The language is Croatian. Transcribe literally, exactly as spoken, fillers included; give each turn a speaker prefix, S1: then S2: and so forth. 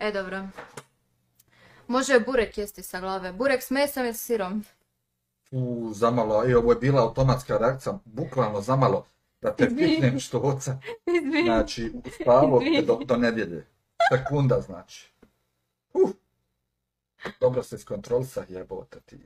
S1: E, dobro. Može burek jesti sa glave. Burek s mesom i s sirom.
S2: U, zamalo, i ovo je bila automatska reakcija, bukvalno zamalo, da te
S1: Izvini.
S2: piknem štoca.
S1: Izvini.
S2: Znači, spavo te
S1: Izvini.
S2: do, do nedjelje. Sekunda, znači. Uh. Dobro se iskontrolisa, jebote ti.